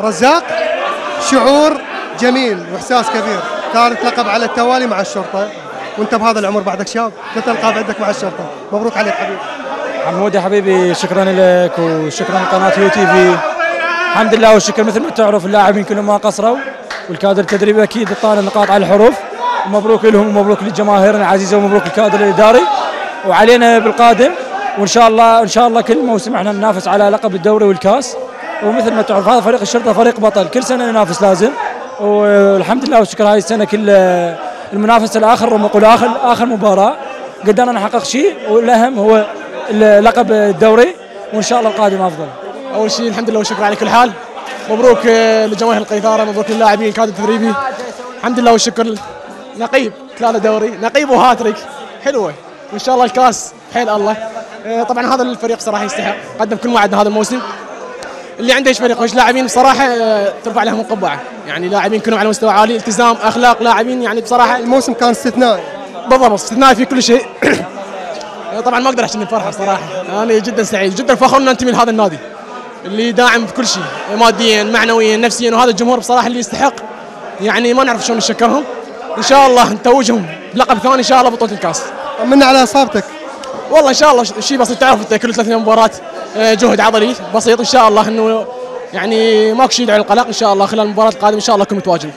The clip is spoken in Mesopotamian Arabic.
رزاق، شعور جميل واحساس كبير، ثالث لقب على التوالي مع الشرطه، وانت بهذا العمر بعدك شاب، ثلاث القاب عندك مع الشرطه، مبروك عليك حبيبي. عمودي حبيبي شكرا لك وشكرا لقناه يو تي في. الحمد لله والشكر، مثل ما تعرف اللاعبين كلهم ما قصروا، والكادر التدريبي اكيد طال النقاط على الحروف، ومبروك لهم ومبروك لجماهيرنا العزيزه ومبروك للكادر الاداري، وعلينا بالقادم، وان شاء الله كل موسم احنا ننافس على لقب الدوري والكاس، ومثل ما تعرف هذا فريق الشرطه فريق بطل، كل سنه ننافس لازم، والحمد لله والشكر هاي السنه كل المنافسه الاخر ونقول اخر مباراه قدرنا نحقق شيء، والاهم هو لقب الدوري، وان شاء الله القادم افضل. اول شيء الحمد لله والشكر على كل حال، مبروك لجماهير القيثاره، مبروك للاعبين الكادر التدريبي، الحمد لله والشكر. نقيب 3 دوري، نقيب وهاتريك حلوه، وان شاء الله الكاس حيل الله. طبعا هذا الفريق صراحه يستحق، قدم كل ما عندنا هذا الموسم. اللي عنده ايش فريق وايش لاعبين بصراحه ترفع لهم القبعه، يعني لاعبين كلهم على مستوى عالي، التزام، اخلاق لاعبين، يعني بصراحه الموسم كان استثنائي. بالضبط استثنائي في كل شيء. طبعا ما اقدر احكي من الفرحه بصراحه، انا جدا سعيد، جدا فخور ان انتمي لهذا النادي اللي داعم بكل شيء، ماديا معنويا نفسيا، وهذا الجمهور بصراحه اللي يستحق، يعني ما نعرف شلون نشكرهم. ان شاء الله نتوجهم بلقب ثاني ان شاء الله بطوله الكاس. طمنا على اصابتك. والله ان شاء الله شيء بسيط، تعرف انت كل 3 مباراه جهد عضلي بسيط، ان شاء الله انه يعني ماكو شيء يدعي للقلق، ان شاء الله خلال المباراه القادمه ان شاء الله اكون متواجد.